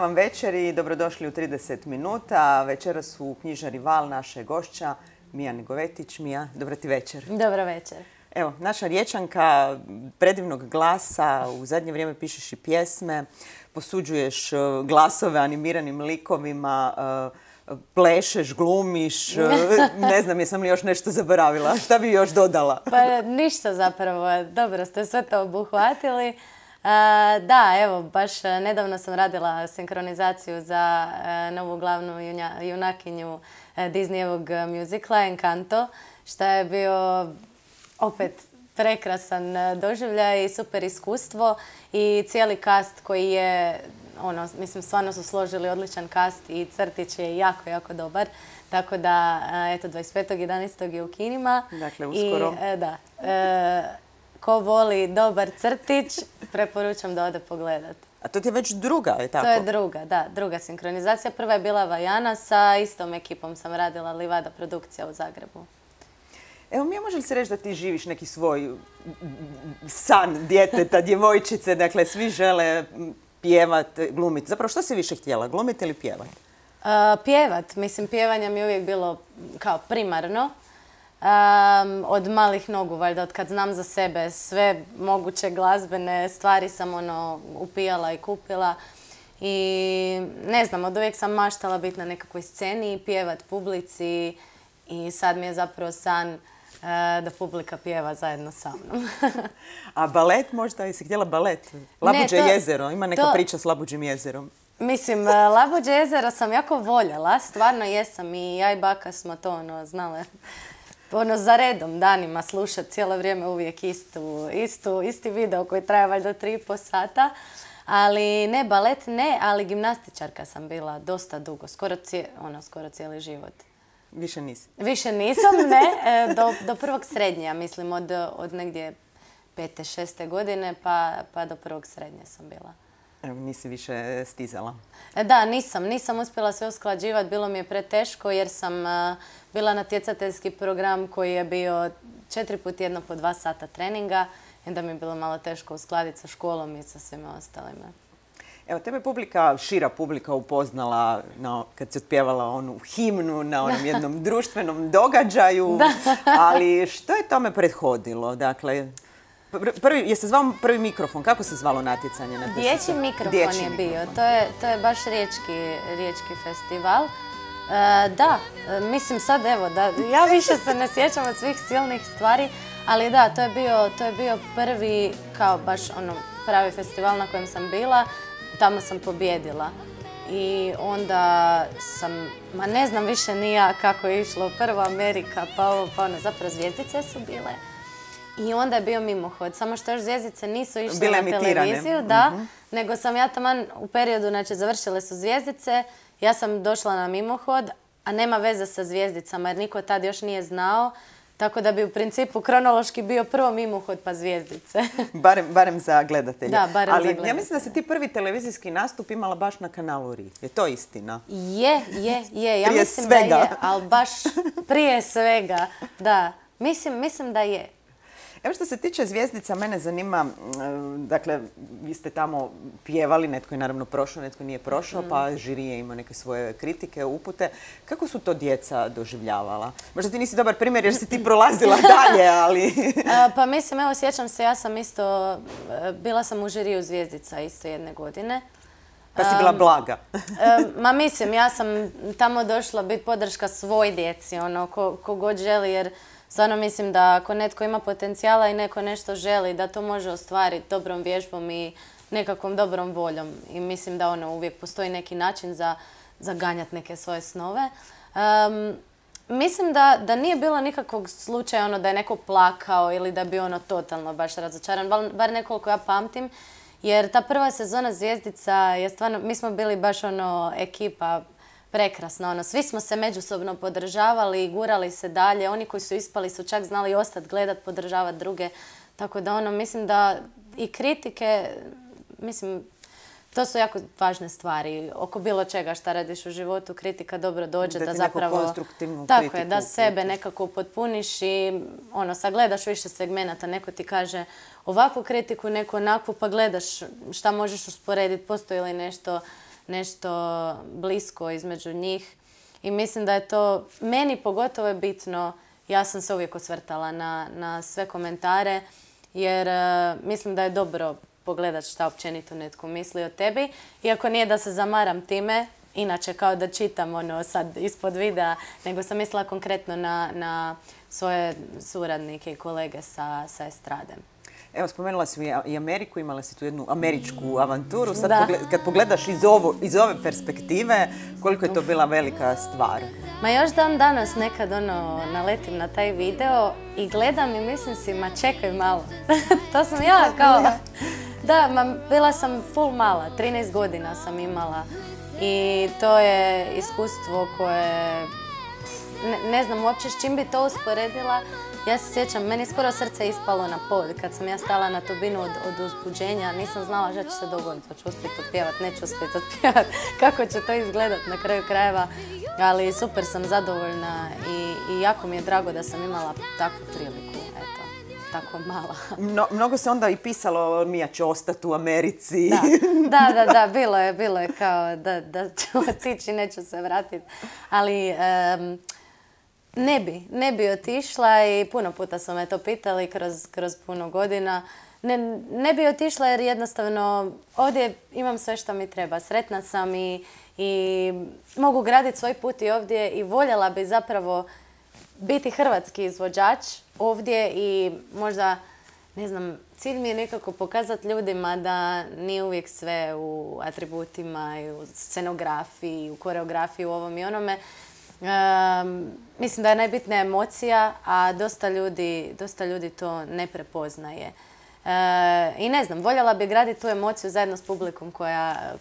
vam večer i dobrodošli u 30 minuta. Večeras u knjižari Val naše gošća Mija Negovetić. Mija, dobro ti večer. Dobro večer. Evo, naša Riječanka, predivnog glasa, u zadnje vrijeme pišeš i pjesme, posuđuješ glasove animiranim likovima, plešeš, glumiš, ne znam jesam li još nešto zaboravila. Šta bi još dodala? Pa ništa zapravo, dobro ste sve to obuhvatili. Da, evo, baš nedavno sam radila sinkronizaciju za novu glavnu junakinju Disneyevog muzikla Encanto, što je bio opet prekrasan doživljaj i super iskustvo i cijeli kast koji je, mislim, stvarno su složili odličan kast i crtić je jako, jako dobar. Tako da, eto, 25.11. je u kinima. Dakle, uskoro. I, da. Ko voli dobar crtić, preporučam da ode pogledat. A to ti je već druga, je tako? To je druga, da, druga sinkronizacija. Prva je bila Vajana, sa istom ekipom sam radila Livada produkcija u Zagrebu. Evo, Mija, može li se reći da ti živiš neki svoj san djeteta, djevojčice, dakle, svi žele pjevat, glumiti. Zapravo, što si više htjela, glumiti ili pjevat? Pjevat. Mislim, pjevanje mi je uvijek bilo kao primarno. Od malih nogu, valjda, od kad znam za sebe, sve moguće glazbene stvari sam upijala i kupila. I ne znam, od uvijek sam maštala biti na nekakvoj sceni i pjevat publici i sad mi je zapravo san da publika pjeva zajedno sa mnom. A balet možda? Jesi htjela balet? Labuđe jezero, ima neka priča s Labuđim jezerom. Mislim, Labuđe jezero sam jako voljela, stvarno jesam i ja i baka smo to znale za redom danima slušati cijelo vrijeme uvijek isti video koji traje valjda 3,5 sata. Ali ne balet, ne, ali gimnastičarka sam bila dosta dugo, skoro cijeli život. Više nisi? Više nisam, ne, do prvog srednje, ja mislim, od negdje 5. 6. godine pa do prvog srednje sam bila. Evo, nisi više stizala? Da, nisam uspjela sve usklađivati, bilo mi je preteško jer sam bila natjecateljski program koji je bio 4 puta tjedno po 2 sata treninga i onda mi je bilo malo teško uskladiti sa školom i sa svima ostalima. Evo, tebe šira publika upoznala kad si otpjevala onu himnu na onom jednom društvenom događaju, ali što je tome prethodilo? Dakle, je se zvao prvi mikrofon? Kako se zvalo natjecanje? Dječji mikrofon je bio. To je baš riječki festival. Da, mislim sad evo, ja više se ne sjećam od svih silnih stvari, ali da, to je bio prvi kao baš pravi festival na kojem sam bila. Tamo sam pobjedila. I onda sam, ne znam više ni ja kako je išlo, prvo Amerika, pa ovo, pa ono, zapravo zvjezdice su bile. I onda je bio mimohod, samo što još zvjezdice nisu išle na televiziju, da, nego sam ja taman u periodu, znači završile su zvjezdice, ja sam došla na mimohod, a nema veze sa zvjezdicama jer niko tad još nije znao, tako da bi u principu kronološki bio prvo mimohod pa zvjezdice. Barem za gledatelje. Da, barem za gledatelje. Ali ja mislim da si ti prvi televizijski nastup imala baš na kanalu RI. Je to istina? Je. Ja mislim da je, ali baš prije svega, da. Mislim da je. Evo što se tiče zvjezdica, mene zanima, dakle, vi ste tamo pjevali, netko je naravno prošao, netko nije prošao, pa žiri je imao neke svoje kritike, upute. Kako su to djeca doživljavala? Možda ti nisi dobar primjer jer si ti prolazila dalje, ali... Pa mislim, evo, sjećam se, ja sam isto, bila sam u žiriju zvjezdica isto jedne godine. Pa si bila blaga. Ma mislim, ja sam tamo došla biti podrška svoj djeci, ko god želi, jer stvarno mislim da ako netko ima potencijala i neko nešto želi, da to može ostvariti dobrom vježbom i nekakvom dobrom voljom. I mislim da uvijek postoji neki način za ganjati neke svoje snove. Mislim da nije bilo nikakvog slučaja da je neko plakao ili da bi totalno baš razočaran, bar nekoliko ja pamtim. Jer ta prva sezona Zvjezdica je stvarno, mi smo bili baš ekipa prekrasna. Svi smo se međusobno podržavali i gurali se dalje. Oni koji su ispali su čak znali ostati gledat, podržavati druge. Tako da mislim da i kritike, mislim, to su jako važne stvari. Oko bilo čega šta radiš u životu, kritika dobro dođe da zapravo... konstruktivnu tako kritiku. je, da sebe nekako potpuniš i sagledaš više segmenata. Neko ti kaže ovakvu kritiku, neko onakvu, pa gledaš šta možeš usporediti, postoji li nešto nešto blisko između njih. I mislim da je to, meni pogotovo je bitno, ja sam se uvijek osvrtala na sve komentare, jer mislim da je dobro pogledat šta općenito netko misli o tebi. Iako nije da se zamaram time, inače kao da čitam sad ispod videa, nego sam mislila konkretno na svoje suradnike i kolege sa estrade. Evo, spomenula si i Ameriku, imala si tu jednu američku avanturu. Sad kad pogledaš iz ove perspektive, koliko je to bila velika stvar? Ma još dan danas nekad naletim na taj video i gledam i mislim si, ma čekaj malo. To sam ja kao... Da, bila sam full mala, 13 godina sam imala i to je iskustvo koje... Ne znam uopće s čim bi to usporedila. Ja se sjećam, meni skoro srce ispalo na pod kad sam ja stala na tubinu od uzbuđenja. Nisam znala šta će se dogoditi, hoću uspjeti otpjevat, neću uspjeti otpjevat, kako će to izgledat na kraju krajeva. Ali super sam zadovoljna i jako mi je drago da sam imala takvu priliku, eto, tako mala. Mnogo se onda i pisalo, Mija će ostati u Americi. Da, bilo je kao da ću otići, neću se vratiti. Ali... Ne bi otišla i puno puta su me to pitali kroz puno godina. Ne bi otišla jer jednostavno ovdje imam sve što mi treba. Sretna sam i mogu graditi svoj put i ovdje i voljela bi zapravo biti hrvatski izvođač ovdje i možda, ne znam, cilj mi je nekako pokazati ljudima da nije uvijek sve u atributima i u scenografiji, u koreografiji, u ovom i onome. Mislim da je najbitnija emocija, a dosta ljudi to ne prepoznaje. I ne znam, voljela bi graditi tu emociju zajedno s publikom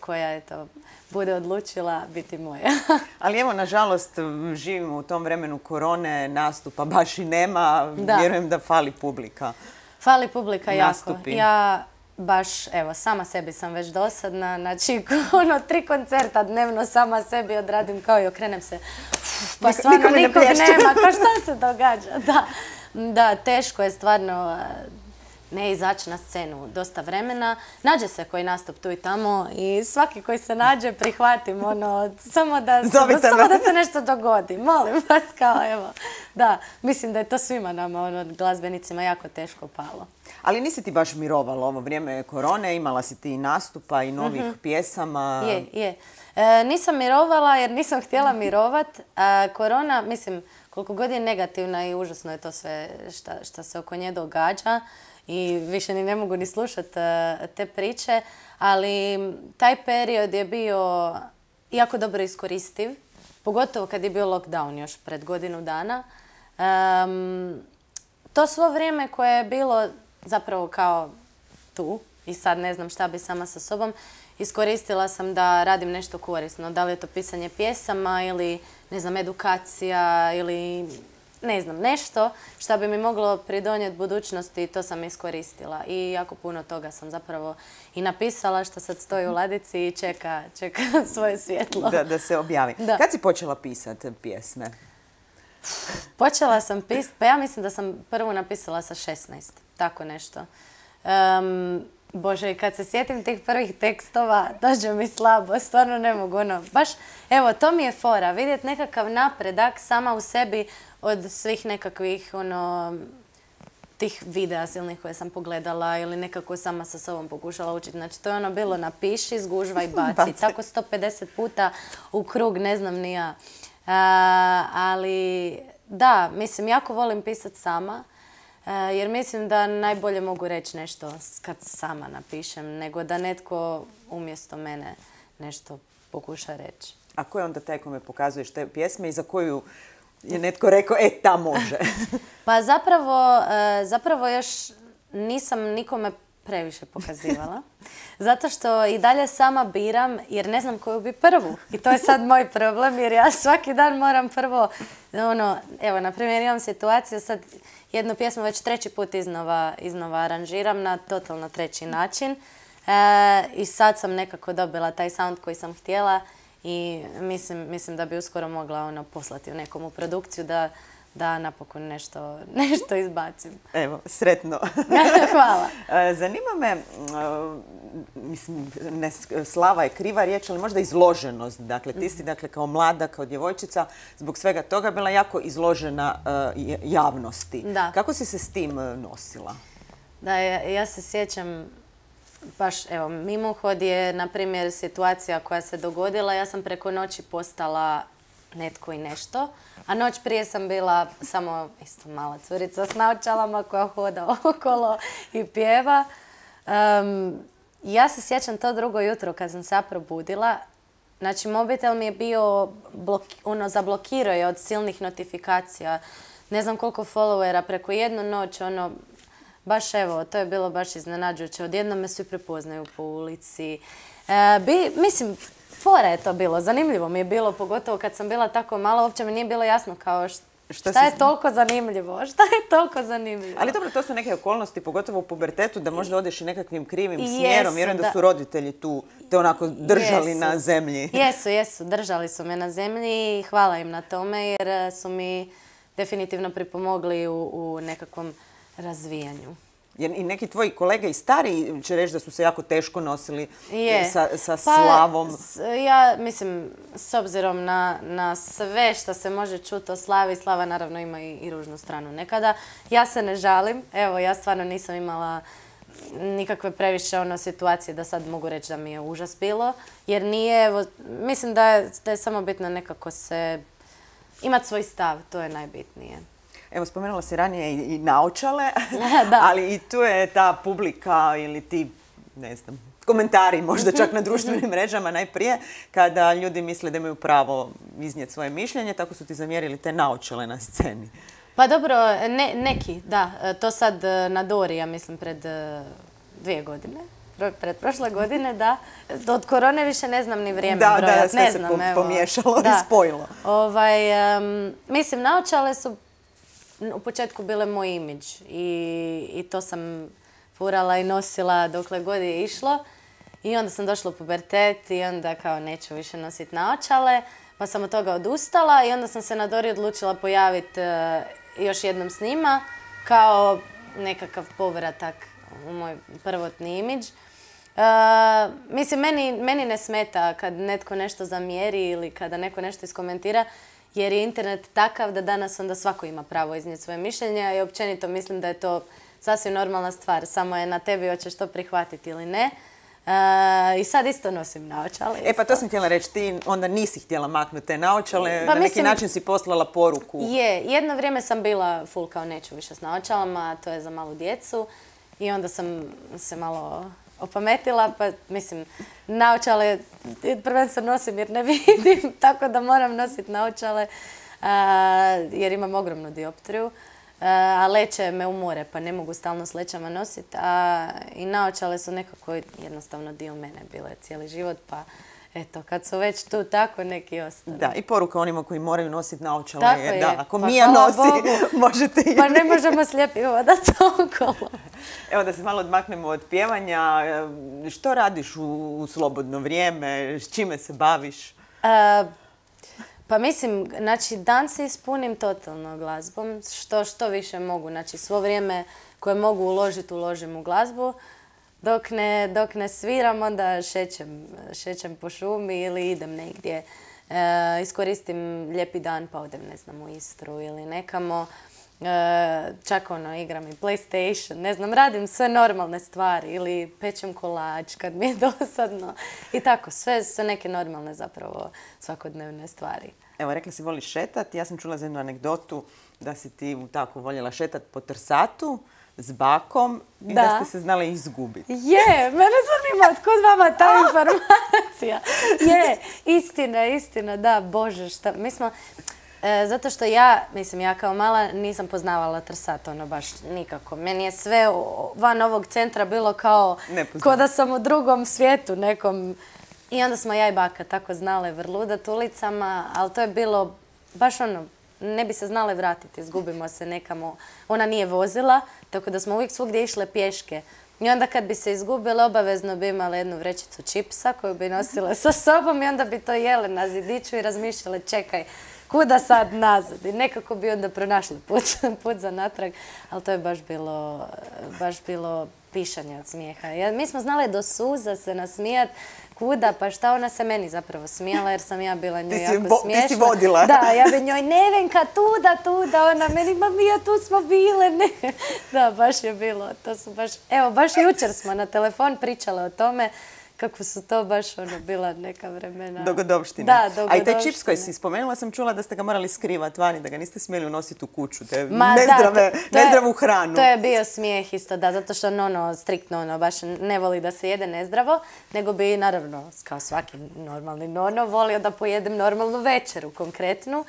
koja eto, bude odlučila biti moja. Ali evo, nažalost, živimo u tom vremenu korone, nastupa baš i nema. Da. Vjerujem da fali publika. Fali publika Nastupi. Jako. Ja baš, evo, sama sebi sam već dosadna. Znači, 3 koncerta dnevno sama sebi odradim kao i okrenem se. Pa stvarno nikog nema. Kao šta se događa? Da, teško je stvarno ne izaći na scenu dosta vremena. Nađe se koji nastup tu i tamo i svaki koji se nađe prihvatim samo da se nešto dogodi. Molim vas, kao evo. Da, mislim da je to svima nama, glazbenicima, jako teško palo. Ali nisi ti baš mirovala ovo vrijeme korone, imala si ti i nastupa i novih pjesama. Je. Nisam mirovala jer nisam htjela mirovat. Korona, mislim, koliko god je negativna i užasno je to sve što se oko nje događa i više ni ne mogu ni slušati te priče, ali taj period je bio jako dobro iskoristiv, pogotovo kad je bio lockdown još pred godinu dana. To svo vrijeme koje je bilo zapravo kao tu i sad ne znam šta bi sama sa sobom, iskoristila sam da radim nešto korisno. Da li je to pisanje pjesama ili, ne znam, edukacija ili, ne znam, nešto što bi mi moglo pridonijeti budućnosti, to sam iskoristila. I jako puno toga sam zapravo i napisala što sad stoji u ladici i čeka svoje svjetlo. Da se objavi. Da. Kad si počela pisati pjesme? Počela sam pisati, pa ja mislim da sam prvu napisala sa 16, tako nešto. Bože, i kad se sjetim tih prvih tekstova, dođe mi slabo, stvarno ne mogu baš, evo, to mi je fora, vidjeti nekakav napredak sama u sebi od svih nekakvih, tih videa silnih koje sam pogledala ili nekako sama sa sobom pokušala učiti. Znači, to je bilo napiši, zgužvaj, baci. Tako 150 puta u krug, ne znam ni ja. Ali, da, mislim, jako volim pisati sama. Jer mislim da najbolje mogu reći nešto kad sama napišem, nego da netko umjesto mene nešto pokuša reći. A ko je onda taj kome pokazuješ te pjesme i za koju je netko rekao, ta može? Pa zapravo još nisam nikome previše pokazivala. Zato što i dalje sama biram jer ne znam koju bi prvu. I to je sad moj problem jer ja svaki dan moram prvo, evo, na primjer imam situaciju sad, jednu pjesmu već 3. put iznova aranžiram na totalno 3. način. I sad sam nekako dobila taj sound koji sam htjela i mislim da bi uskoro mogla poslati u nekom u produkciju da napokon nešto izbacim. Evo, sretno. Hvala. Zanima me, mislim, slava je kriva riječ, ali možda izloženost. Dakle, ti si kao mlada, kao djevojčica, zbog svega toga bila jako izložena javnosti. Da. Kako si se s tim nosila? Da, ja se sjećam, baš, evo, mimohod je, na primjer, situacija koja se dogodila. Ja sam preko noći postala netko i nešto, a noć prije sam bila samo isto mala curica s naočalama koja hoda okolo i pjeva. Ja se sjećam to drugo jutro kad sam se probudila. Znači, mobitel mi je bio, zablokirao je od silnih notifikacija. Ne znam koliko followera, preko jednu noć, baš evo, to je bilo baš iznenađujuće. Odjednom me svi prepoznaju po ulici. Mislim, fora je to bilo, zanimljivo mi je bilo, pogotovo kad sam bila tako mala, uopće mi nije bilo jasno kao šta je toliko zanimljivo, šta je toliko zanimljivo. Ali dobro, to su neke okolnosti, pogotovo u pubertetu, da možda odeš i nekakvim krivim smjerom. Vjerujem da su roditelji tu te onako držali na zemlji. Jesu, držali su me na zemlji i hvala im na tome jer su mi definitivno pripomogli u nekakvom razvijanju. Jer i neki tvoji kolege i stariji će reći da su se jako teško nosili sa slavom. Ja mislim, s obzirom na sve što se može čuti o slavi, slava naravno ima i ružnu stranu nekada. Ja se ne žalim. Evo, ja stvarno nisam imala nikakve previše situacije da sad mogu reći da mi je užas bilo. Jer nije, evo, mislim da je samo bitno nekako imati svoj stav, to je najbitnije. Evo, spomenula si ranije i naočale, ali i tu je ta publika ili ti, ne znam, komentari možda čak na društvenim mrežama najprije, kada ljudi misle da imaju pravo iznijeti svoje mišljenje, tako su ti zamjerili te naočale na sceni. Pa dobro, neki, da. To sad na Dori, ja mislim, pred 2 godine. Pred prošle godine, da. Od korone više ne znam ni vrijeme brojati. Da, sve se pomiješalo i spojilo. Mislim, naočale su u početku bile moj imidž i to sam furala i nosila dokle god je išlo. I onda sam došla u pubertet i onda kao neću više nositi naočale, pa sam od toga odustala i onda sam se na Dori odlučila pojaviti još jednom s njima kao nekakav povratak u moj prvotni imidž. Mislim, meni ne smeta kad netko nešto zamjeri ili kada neko nešto iskomentira, jer je internet takav da danas onda svako ima pravo iznijeti svoje mišljenja i općenito mislim da je to sasvim normalna stvar. Samo je na tebi hoćeš to prihvatiti ili ne. I sad isto nosim naočale. Pa to sam htjela reći, ti onda nisi htjela maknuti te naočale, na neki način si poslala poruku. Jedno vrijeme sam bila full kao neću više s naočalama, to je za malu djecu i onda sam se malo opametila, pa mislim, naočale prvenstveno nosim jer ne vidim, tako da moram nositi naočale jer imam ogromnu dioptriju, a leće me umore pa ne mogu stalno s lećama nositi, i naočale su nekako jednostavno dio mene bile cijeli život, pa eto, kad su već tu tako neki ostane. Da, i poruka onima koji moraju nositi naočale je da ako Mija nosi, možete i vi. Pa ne možemo slijepi hodati okolo. Evo da se malo odmaknemo od pjevanja. Što radiš u slobodno vrijeme? S čime se baviš? Pa mislim, znači dan se ispunim totalno glazbom. Što više mogu. Znači svo vrijeme koje mogu uložim u glazbu. Dok ne sviram, onda šećem po šumi ili idem negdje. Iskoristim lijepi dan pa odem, ne znam, u Istru ili nekamo. Čak igram i PlayStation, ne znam, radim sve normalne stvari ili pečem kolač kad mi je dosadno. I tako, sve neke normalne zapravo svakodnevne stvari. Evo, rekla si voliš šetati. Ja sam čula za jednu anegdotu da si ti tako voljela šetati po Trsatu s bakom i da ste se znali izgubiti. Mene zanima otkud vama ta informacija. Istina, da, Bože, šta, mi smo, zato što ja kao mala nisam poznavala Trsat, baš nikako. Meni je sve van ovog centra bilo kao da sam u drugom svijetu nekom. I onda smo ja i baka tako znale vrludat ulicama, ali to je bilo baš ne bi se znale vratiti, izgubimo se nekamo. Ona nije vozila, tako da smo uvijek svugdje išle pješke. I onda kad bi se izgubile, obavezno bi imale jednu vrećicu čipsa koju bi nosile sa sobom i onda bi to jele na zidiću i razmišljale, čekaj, kuda sad nazad. I nekako bi onda pronašli put za natrag, ali to je baš bilo pišanje od smijeha. Mi smo znali do suza se nasmijat, kuda, pa šta ona se meni zapravo smijala jer sam ja bila njoj jako smiješna. Ti si vodila. Da, ja bi njoj, Nevenka, tuda, ona meni, ma Mija, tu smo bile, ne. Da, baš je bilo, baš jučer smo na telefon pričale o tome kako su to baš bila neka vremena. Dogodovštine. Da, dogodovštine. A i taj čips koji si spomenula sam čula da ste ga morali skrivati vani, da ga niste smjeli unositi u kuću, te nezdravu hranu. To je bio smijeh isto, da, zato što striktno baš ne voli da se jede nezdravo, nego bi naravno, kao svaki normalni nono, volio da pojedem normalnu večeru konkretnu.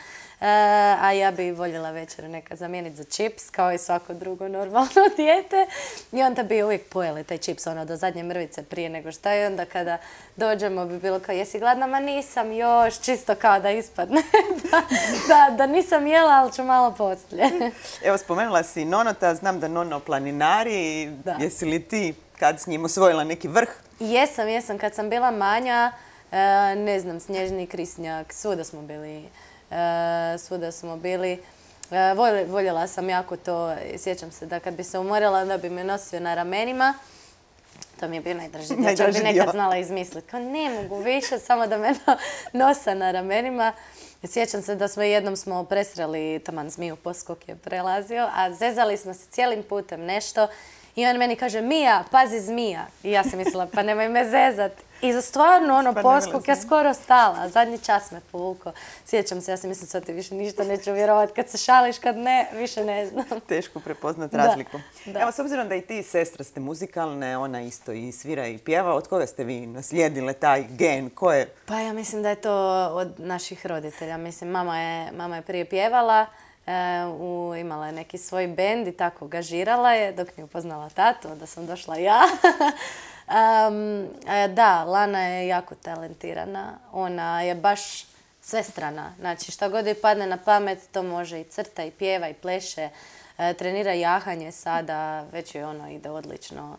A ja bi voljela večeru nekad zamijeniti za čips, kao i svako drugo normalno dijete. I onda bi uvijek pojeli taj čips do zadnje mrvice prije nego šta. I onda kada dođemo bi bilo kao, jesi gladna? Ma nisam još, čisto kao da ispadne. da nisam jela, ali ću malo poslije. Evo, spomenula si nonota, znam da nono planinari. Jesi li ti kad s njim osvojila neki vrh? Jesam. Kad sam bila manja, ne znam, Snježni Krisnjak, svuda smo bili. Voljela sam jako to. Sjećam se da kad bi se umorila, onda bi me nosio na ramenima. To mi je bio najdraži dio. Čak bi nekad znala izmisliti. Kao ne mogu više, samo da me nosa na ramenima. Sjećam se da jednom smo presreli, taman zmiju poskok je prelazio, a zezali smo se cijelim putem nešto. I on meni kaže, Mija, pazi zmija. I ja sam mislila, pa nemoj me zezat. I za stvarno poskok je skoro stala. Zadnji čas me povukao. Sjećam se, ja sam mislila, sad ti više ništa neću vjerovati. Kad se šališ, kad ne, više ne znam. Teško prepoznat razliku. Evo, s obzirom da i ti sestra ste muzikalne, ona isto i svira i pjeva, od koga ste vi naslijedile taj gen? Ko je? Pa ja mislim da je to od naših roditelja. Mislim, mama je prije pjevala. Imala je neki svoj bend i tako gažirala je dok nije upoznala tatu, onda sam došla ja. Da, Lana je jako talentirana. Ona je baš svestrana. Znači, šta god joj padne na pamet, to može i crta, i pjeva, i pleše. Trenira jahanje sada, već joj ide odlično.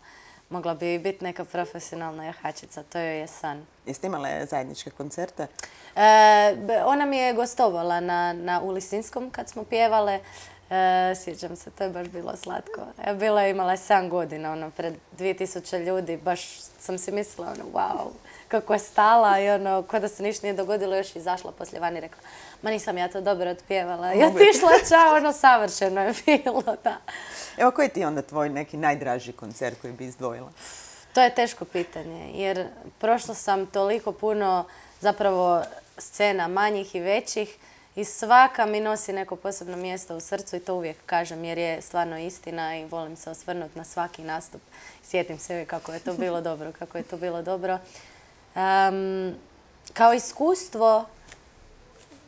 Mogla bi biti neka profesionalna jahačica, to joj je san. Jeste imale zajedničke koncerte? Ona mi je gostovala u Lisinskom kad smo pjevale. Sjećam se, to je baš bilo slatko. Imala je 7 godina, pred 2000 ljudi. Baš sam si mislila, wow, kako je stala i ko da se ništa nije dogodilo, još izašla poslije van i rekla, ma nisam ja to dobro otpjevala. I otišla, čao, savršeno je bilo, da. Evo, koji ti je onda tvoj neki najdraži koncert koji bi izdvojila? To je teško pitanje, jer prošla sam toliko puno zapravo scena manjih i većih i svaka mi nosi neko posebno mjesto u srcu i to uvijek kažem jer je stvarno istina i volim se osvrnuti na svaki nastup. Sjetim se uvijek kako je to bilo dobro, Kao iskustvo,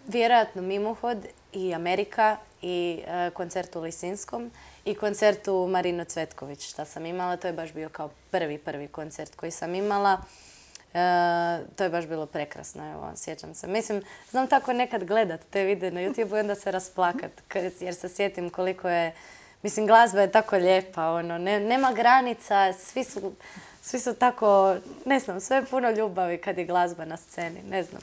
vjerojatno Mimohod i Amerika i koncert u Lisinskom i koncert u Marino Cvetković što sam imala. To je baš bio kao prvi koncert koji sam imala. To je baš bilo prekrasno, evo, sjećam se. Mislim, znam tako nekad gledat te videe na YouTube i onda se rasplakat, jer se sjetim koliko je, mislim, glazba je tako lijepa, nema granica, svi su tako, ne znam, sve je puno ljubavi kad je glazba na sceni, ne znam.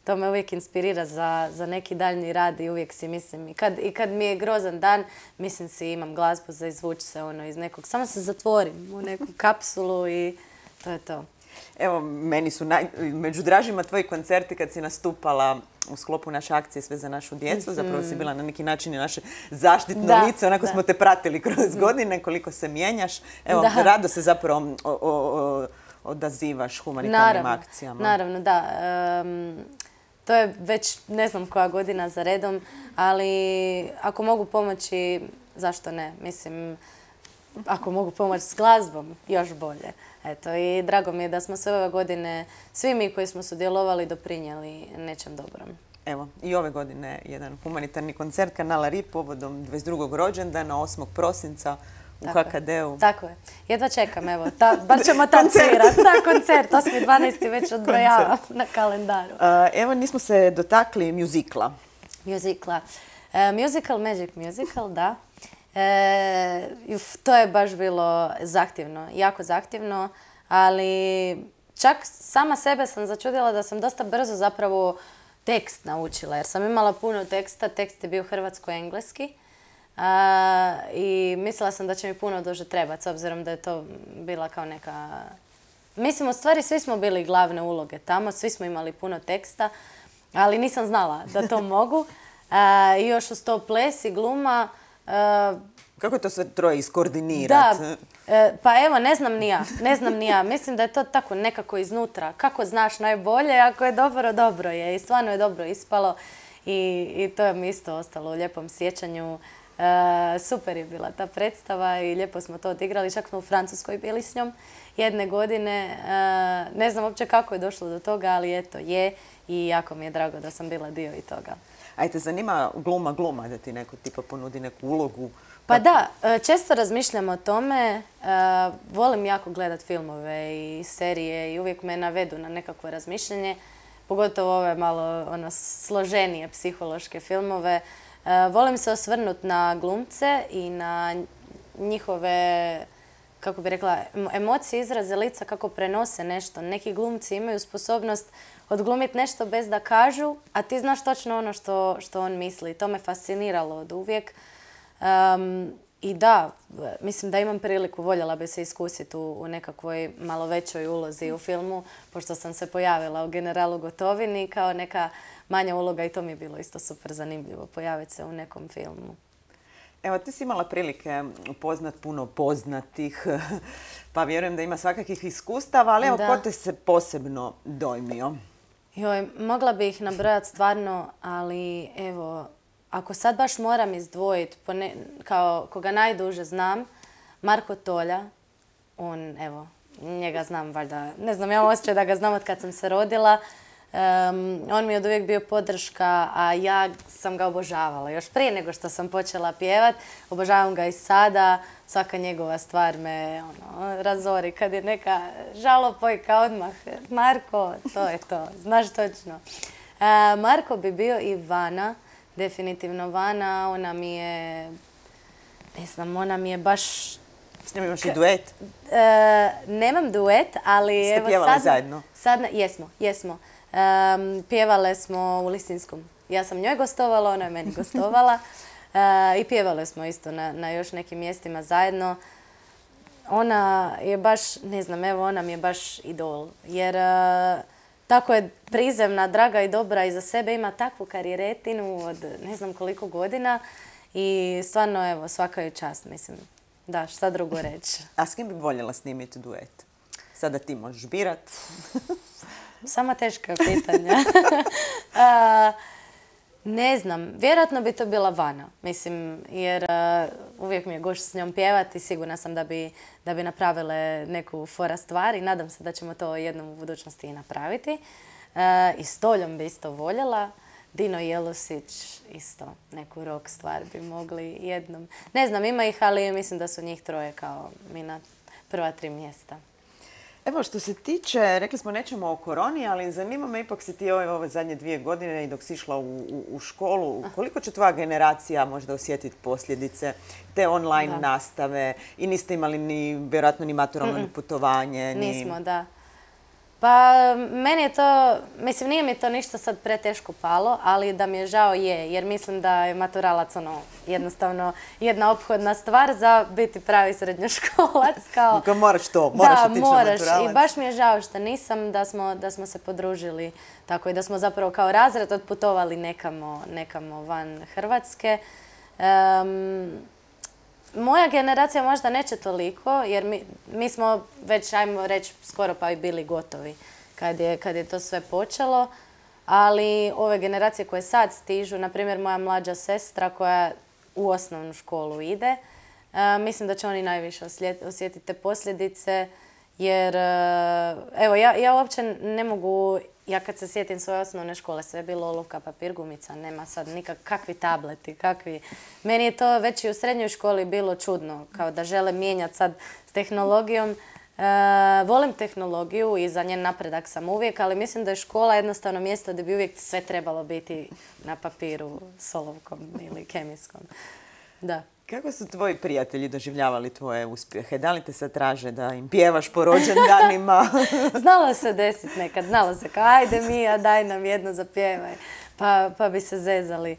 To me uvijek inspirira za neki daljnji rad i uvijek si mislim, i kad mi je grozan dan, mislim si imam glazbu za izvući se iz nekog, samo se zatvorim u neku kapsulu i to je to. Evo, meni su među dražima tvoji koncerti kad si nastupala u sklopu naše akcije Sve za našu djecu. Zapravo si bila na neki način i naše zaštitno lice. Onako smo te pratili kroz godine, koliko se mijenjaš. Evo, rado se zapravo odazivaš humanitarnim akcijama. Naravno, da. To je već ne znam koja godina za redom, ali ako mogu pomoći, zašto ne? Mislim, ako mogu pomoći s glazbom, još bolje. Eto, i drago mi je da smo sve ove godine, svi mi koji smo sudjelovali, doprinijeli nečem dobrom. Evo, i ove godine jedan humanitarni koncert kanala RIP povodom 22. rođendana, 8. prosinca u HKD-u. Tako je. Jedva čekam, evo. Bar ćemo tam svirati. Da, koncert. 8.12. već odbrojavam na kalendaru. Evo, nismo se dotakli mjuzikla. Musical, Magic Musical, da. To je baš bilo zahtjevno, jako zahtjevno, ali čak sama sebe sam začudila da sam dosta brzo zapravo tekst naučila, jer sam imala puno teksta. Tekst je bio hrvatsko-engleski. I mislila sam da će mi puno duže trebati, s obzirom da je to bila kao neka... Mislim, u stvari svi smo bili glavne uloge tamo, svi smo imali puno teksta, ali nisam znala da to mogu. I još uz to ples i gluma. Kako je to sve troje iskoordinirati? Da, pa evo, ne znam ni ja. Mislim da je to tako nekako iznutra. Kako znaš najbolje, ako je dobro, dobro je. I stvarno je dobro ispalo i to je mi isto ostalo u lijepom sjećanju. Super je bila ta predstava i lijepo smo to odigrali. Čak smo u Francuskoj bili s njom jedne godine. Ne znam uopće kako je došlo do toga, ali eto je i jako mi je drago da sam bila dio i toga. A te zanima gluma da ti neko tipa ponudi neku ulogu? Pa da, često razmišljam o tome. Volim jako gledat filmove i serije i uvijek me navedu na nekakvo razmišljanje. Pogotovo ove malo složenije psihološke filmove. Volim se osvrnuti na glumce i na njihove, kako bi rekla, emocije, izraze lica, kako prenose nešto. Neki glumci imaju sposobnost odglumiti nešto bez da kažu, a ti znaš točno ono što on misli. To me fasciniralo od uvijek. I da, mislim da imam priliku, voljela bi se iskusiti u nekakvoj malo većoj ulozi u filmu, pošto sam se pojavila u Generalu Gotovini kao neka manja uloga i to mi je bilo isto super zanimljivo pojaviti se u nekom filmu. Evo, ti si imala prilike upoznat puno poznatih, pa vjerujem da ima svakakvih iskustava, ali evo, ko te se posebno dojmio? Joj, mogla bi ih nabrojati stvarno, ali evo, ako sad baš moram izdvojiti, kao koga najduže znam, Marko Tolja, on, evo, njega znam valjda, ne znam, ja imam osjećaj da ga znam od kad sam se rodila. On mi je od uvijek bio podrška, a ja sam ga obožavala. Još prije nego što sam počela pjevat, obožavam ga i sada. Svaka njegova stvar me razori. Kad je neka žalopojka odmah, Marko, to je to, znaš točno. Marko bi bio i Vana, definitivno Vana. Ona mi je, ne znam, ona mi je baš... S njom imaš i duet? Nemam duet, ali... Ste pjevali zajedno? Jesmo. Pjevale smo u Lisinskom. Ja sam njoj gostovala, ona je meni gostovala. I pjevale smo isto na još nekim mjestima zajedno. Ona je baš, ne znam, evo, ona mi je baš idol. Jer tako je prizemna, draga i dobra i za sebe ima takvu karijeretinu od ne znam koliko godina. I stvarno, evo, svaka je čast, mislim. Da, šta drugo reći. A s kim bi voljela snimiti duet? Sada ti možeš birat. Sama teška pitanja. Ne znam, vjerojatno bi to bila Vana, mislim, jer uvijek mi je gušt s njom pjevati, sigurna sam da bi napravile neku fora stvar i nadam se da ćemo to jednom u budućnosti i napraviti. I s Toljom bi isto voljela. Dino Jelusić, isto neku rock stvar bi mogli jednom. Ne znam, ima ih, ali mislim da su njih troje kao mi na prva 3 mjesta. Evo, što se tiče, rekli smo nećemo o koroni, ali zanima me, ipak si ti ove zadnje 2 godine i dok si išla u školu, koliko će tvoja generacija možda osjetiti posljedice te online nastave i niste imali vjerojatno ni maturalno putovanje? Nismo, da. Pa meni je to, mislim, nije mi to ništa sad preteško palo, ali da mi je žao jer mislim da je maturalac jednostavno jedna ophodna stvar za biti pravi srednjoškolac. Moraš to, moraš otići na maturalac. Da, moraš. I baš mi je žao što nisam, da smo se podružili tako i da smo zapravo kao razred otputovali nekamo van Hrvatske. Moja generacija možda neće toliko, jer mi smo već, ajmo reći, skoro pa i bili gotovi kad je to sve počelo. Ali ove generacije koje sad stižu, na primjer moja mlađa sestra koja u osnovnu školu ide, mislim da će oni najviše osjetiti te posljedice. Jer, evo, ja uopće ne mogu, ja kad se sjetim svoje osnovne škole, sve je bilo olovka, papir, gumica, nema sad kakvi tableti, kakvi... Meni je to već i u srednjoj školi bilo čudno, kao da žele mijenjati sad s tehnologijom. Volim tehnologiju i za njen napredak sam uvijek, ali mislim da je škola jednostavno mjesto gdje bi uvijek sve trebalo biti na papiru s olovkom ili kemijskom. Da. Kako su tvoji prijatelji doživljavali tvoje uspjehe? Da li te sad traže da im pjevaš po rođendanima? Znalo se desiti nekad. Znalo se kao, ajde Mija, daj nam jedno zapjevaj. Pa bi se zezali.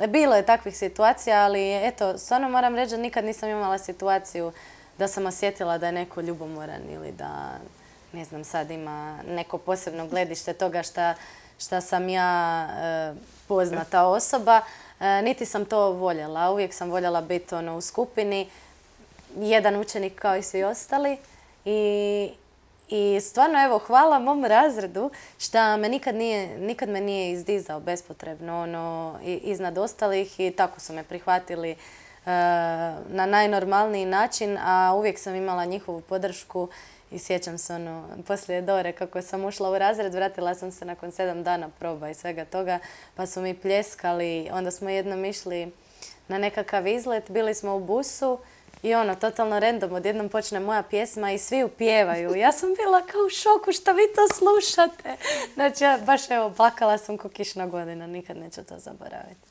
Bilo je takvih situacija, ali eto, stvarno moram reći da nikad nisam imala situaciju da sam osjetila da je neko ljubomoran ili da, ne znam, sad ima neko posebno gledište toga šta sam ja poznata osoba. Niti sam to voljela. Uvijek sam voljela biti u skupini. Jedan učenik kao i svi ostali. I stvarno, evo, hvala mom razredu šta me nikad me nije izdizao bespotrebno iznad ostalih i tako su me prihvatili na najnormalniji način, a uvijek sam imala njihovu podršku i sjećam se poslije Dore kako sam ušla u razred, vratila sam se nakon 7 dana proba i svega toga, pa su mi pljeskali. Onda smo jednom išli na nekakav izlet, bili smo u busu i totalno random, odjednom počne moja pjesma i svi upjevaju. Ja sam bila kao u šoku, šta vi to slušate? Znači, ja baš evo, plakala sam ko kišna godina, nikad neću to zaboraviti.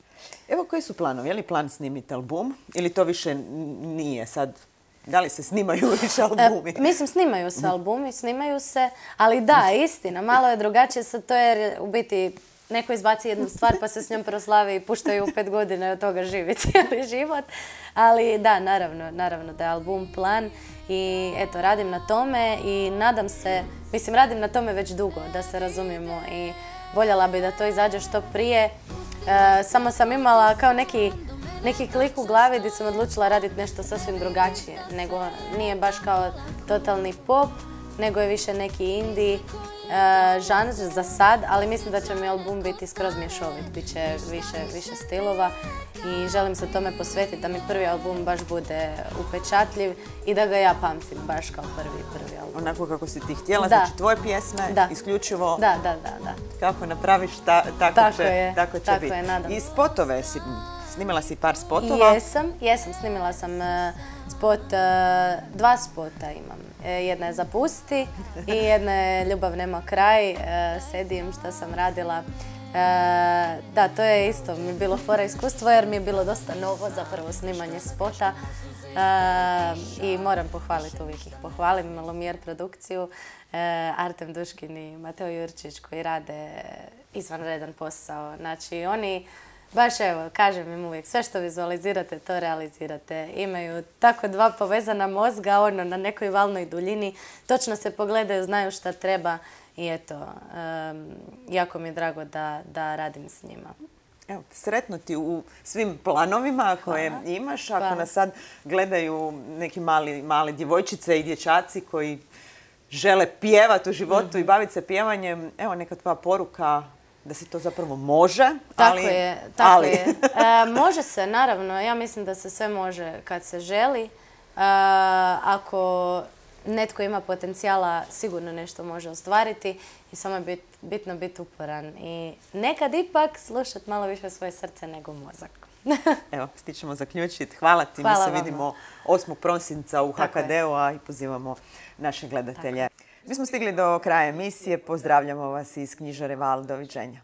Evo, koji su planovi? Je li plan snimiti album ili to više nije sad? Da li se snimaju više albumi? Mislim, snimaju se albumi, snimaju se, ali da, istina, malo je drugačije sad to jer u biti neko izbaci jednu stvar pa se s njom proslavi i puštaju 5 godina i od toga živi cijeli život. Ali da, naravno da je album plan i eto, radim na tome i nadam se, mislim, radim na tome već dugo, da se razumijemo i voljela bi da to izađe što prije. Samo sam imala kao neki klik u glavi gdje sam odlučila raditi nešto sasvim drugačije. Nego nije baš kao totalni pop, nego je više neki indie žanr za sad, ali mislim da će mi album biti skroz mješovit, bit će više stilova i želim se tome posvetiti da mi prvi album baš bude upečatljiv i da ga ja pamtim baš kao prvi album. Onako kako si ti htjela, znači tvoje pjesme, isključivo da. Kako napraviš, tako će biti. Je, nadam. I spotove si, snimila si par spotova? Jesam, snimila sam spot, 2 spota imam. Jedna je Zapusti i jedna je Ljubav nema kraj, Sedim što sam radila. Da, to je isto mi je bilo fora iskustvo jer mi je bilo dosta novo zapravo snimanje spota i moram pohvaliti, uvijek ih pohvalim, Lumijer produkciju, Artem Duškin i Mateo Jurčić koji rade izvanredan posao. Znači oni baš evo, kažem im uvijek, sve što vizualizirate, to realizirate. Imaju tako 2 povezana mozga, na nekoj valnoj duljini. Točno se pogledaju, znaju šta treba i eto, jako mi je drago da radim s njima. Evo, sretno ti u svim planovima koje imaš. Ako nas sad gledaju neki mali djevojčice i dječaci koji žele pjevati u životu i baviti se pjevanjem, evo neka tvoja poruka da se to zapravo može, Tako je. Može se, naravno. Ja mislim da se sve može kad se želi. Ako netko ima potencijala, sigurno nešto može ostvariti i samo je bitno biti uporan. I nekad ipak slušati malo više svoje srce nego mozak. Evo, stičemo zaključiti. Hvala ti. Mi se vidimo 8. prosinca u HKD-u, a i pozivamo naše gledatelje. Mi smo stigli do kraja emisije. Pozdravljamo vas iz knjižare Val. Doviđenja.